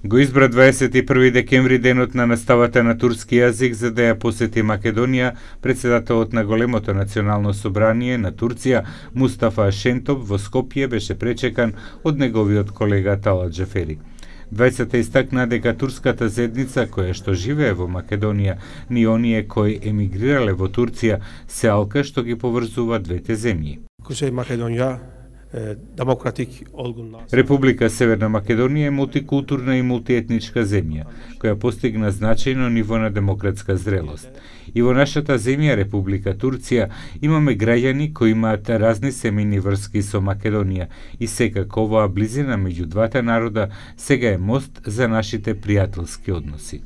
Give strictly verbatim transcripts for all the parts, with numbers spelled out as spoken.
Го избра дваесет и први декември денот на наставата на турски јазик за да ја посети Македонија председателот на големото национално собрание на Турција Мустафа Шентоп во Скопје беше пречекан од неговиот колега Талат Џафери. Двајцата истакна дека турската заедница која што живее во Македонија ни оние кои емигрирале во Турција се алка што ги поврзува двете земји. Кусеј Македонија демократик олгун. Република Северна Македонија е мултикултурна и мултиетничка земја, која постигна значајно ниво на демократска зрелост. И во нашата земја, Република Турција, имаме граѓани кои имаат разни семејни врски со Македонија и секако оваа близина меѓу двата народа сега е мост за нашите пријателски односи.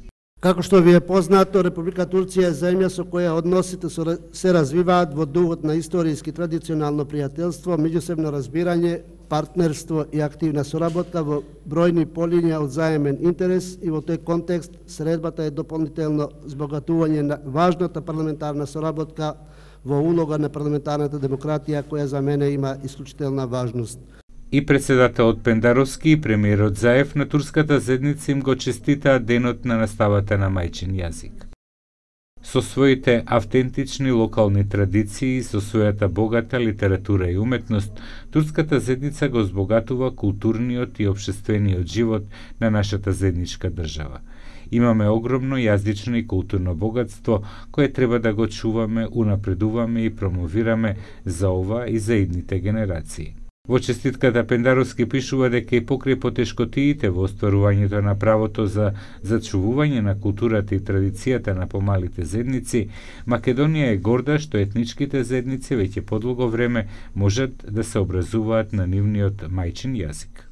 Како што ви е познато, Република Турција е земја со која односите се развиваат во духот на историски традиционално пријателство, меѓусебно разбирање, партнерство и активна соработка во бројни полиња од заемен интерес и во тој контекст средбата е дополнително збогатување на важната парламентарна соработка во улога на парламентарната демократија која за мене има исклучителна важност. И председателот Пендаровски и премиерот Заев на турската заедница им го честитаат денот на наставата на мајчин јазик. Со своите автентични локални традиции и со својата богата литература и уметност, турската заедница го збогатува културниот и општествениот живот на нашата заедничка држава. Имаме огромно јазично и културно богатство кое треба да го чуваме, унапредуваме и промовираме за ова и за идните генерации. Во честитката Пендаровски пишува дека и покрај потешкотиите во остварувањето на правото за зачувување на културата и традицијата на помалите заедници, Македонија е горда што етничките заедници веќе подолго време можат да се образуваат на нивниот мајчин јазик.